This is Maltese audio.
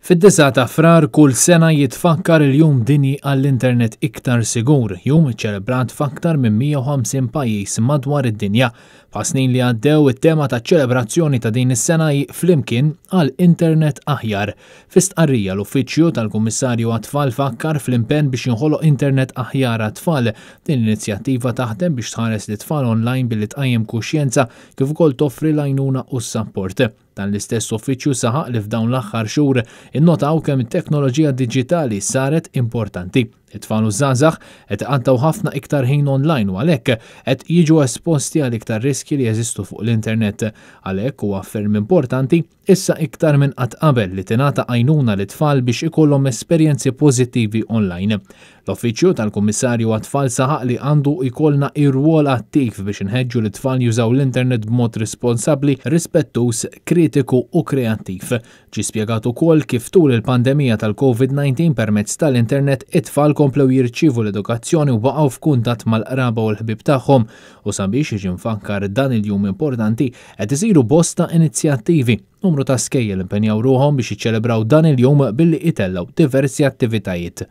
Fid-9 ta' Frar kull sena jitfakkar il-Jum Dinji għall-Internet Iktar Sigur, jum iċċelebrat f'aktar minn 150 pajjiż madwar id-dinja. Bħas-snin li għaddew, it-tema taċ-ċelebrazzjoni ta' din is-sena hi Flimkien għal Internet Aħjar. Fi stqarrija l-Uffiċċju tal-Kummissarju għat-Tfal fakkar fl-impenn biex jinħoloq internet aħjar għat-tfal. Din l-inizjattiva taħdem biex tħares lit-tfal online billi tqajjem kuxjenza kif ukoll toffri l-għajnuna u s-sapport. Dan l-istess uffiċċju saħaq li f'dawn l-aħħar xhur innotaw kemm it-teknoloġija diġitali saret importanti. It-tfal u żgħażagħ qed iqattgħu ħafna iktar ħin online u għalhekk qed jiġu esposti għal iktar riskji li jeżistu fuq l-internet. Għalhekk huwa ferm importanti issa iktar minn qatt qabel li tingħata għajnuna lit-tfal biex ikollhom esperjenzi pożittivi online. L-Uffiċċju tal-Kummissarju għat-Tfal saħaq li għandu jkollna ir-rwol attiv biex inħeġġu lit-tfal jużaw l-internet b'mod responsabbli, rispettuż, kritiku u kreattiv. Ġie spjegat ukoll kif tul il-pandemija tal-COVID-19 permezz tal-internet it-tfal komplew jirċievu l-edukazzjoni u baqgħu f'kuntatt mal-qraba u l-ħbieb tagħhom u sabiex jiġi mfakkar dan il-jum importanti qed isiru bosta inizjattivi. Numru ta' skejjel impenjaw ruħhom biex jiċċelebraw dan il-jum billi itellgħu diversi attivitajiet.